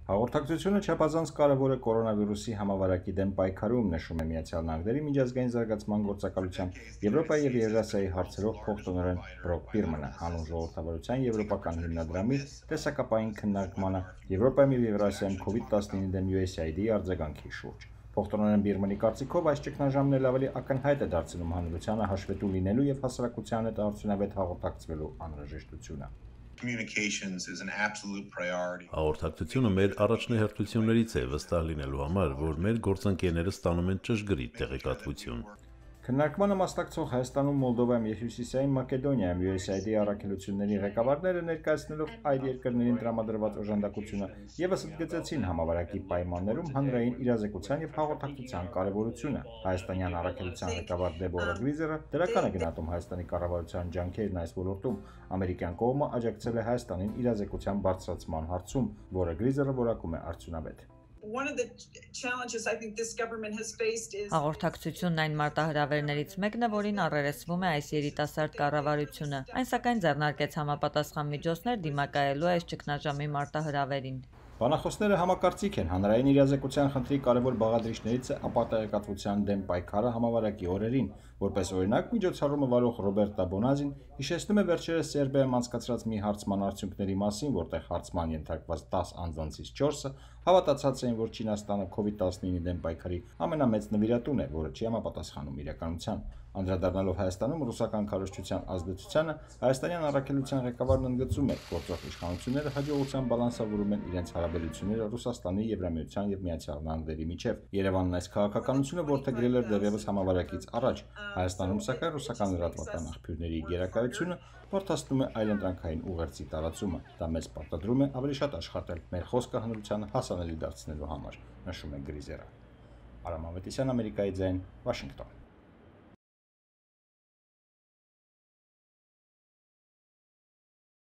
Հաղորդակցությունը չափազանց կարևոր է կորոնավիրուսի համավարակի դեմ պայքարում, նշում է Միացյալ Նահանգների միջազգային զարգացման գործակալության Եվրոպայի եւ Եվրասիայի հարցերով փոխտնօրեն Բրոկ Պիրմանը հանուն ժողովրդավարության եվրոպական հիմնադրամի տեսակապային քննարկմանը Եվրոպայում եւ Եվրասիայում COVID-19 դեմ USAID-ի արձագանքի շուրջ։ Փոխտնօրեն Պիրմանի կարծիքով այս ճգնաժամն էլ ավելի ակնհայտ է դարձնում հանրությանը հաշվետու լինելու եւ հասարակության հետ արդյունավետ հաղորդակցվելու անհրաժեշտությունը։ Հաղորդակցությունը մեր առաջնահերթություններից է վստահ լինելու համար, որ մեր գործընկերները ստանում են ճշգրիտ տեղեկատվություն։ Քննարկմանը մասնակցող Հայաստանում, Մոլդովայում եւ Հյուսիսային Մակեդոնիայում USAID-ի առաքելությունների ղեկավարները ներկայացնելով այդ երկրներին տրամադրված օժանդակությունը եւս ընդգծեցին համավարակի պայմաններում հանրային իրազեկության եւ հաղորդակցության կարեւորությունը։ Հայաստանյան առաքելության ղեկավար Դեբորա Գրիզերը դրական է գնահատում Հայաստանի կառավարության ջանքերն այս ոլորտում։ Ամերիկյան կողմը աջակցել է Հայաստանին իրազեկության բարձրացման հարցում, որը Գրիզերը որակում է արդյունավետ։ Հաղորդակցությունն այն մարտահրավերներից մեկն է, որին առերեսվում է այս երիտասարդ կառավարությունը։ Այն սակայն ձեռնարկեց համապատասխան միջոցներ դիմակայելու այս ճգնաժամի մարտահրավերին։ Բանախոսները համակարծիք են հանրային իրազեկության խնդրի կարևոր բաղադրիչներից է ապատեղեկատվության դեմ պայքարը համավարակի օրերին, որպես օրինակ միջոցառումը վարող Ռոբերտա Բոնազին հիշեցնում է վերջերս Սերբիայում անցկացրած մի հարցման արդյունքների մասին, որտեղ հարցման ենթարկված 10 անձանցից 4-ը հավատացած էին, որ Չինաստանը COVID-19-ի դեմ պայքարի ամենամեծ նվիրատուն է, որը չի համապատասխանում իրականության։ Անդրադառնալով Հայաստանում ռուսական քարոզչության ազդեցությանը, հայաստանյան առաքելության ղեկավարն ընդգծում է, գործող իշխանությունները հաջողությամբ բալանսավորում են իրենց հարաբերությունները Ռուսաստանի, Եվրամիության եւ Միացյալ Նահանգների միջև։ Երևանն այս քաղաքականությունը որդեգրել էր դեռևս համավարակից առաջ։ Հայաստանում սակայն ռուսական լրատվական աղբյուրների գերակայությունը որդաստում է այլընտրանքային ուղերձի տարածումը։ Դա մեզ պարտադրում է ավելի շատ աշխատել մեր խոսքը հանրությանը հասանելի դարձնելու համար, նշում է Գրիզերը։ Արամ Ավետիսյան, Ամերիկայի ձայն, Վաշինգտոն։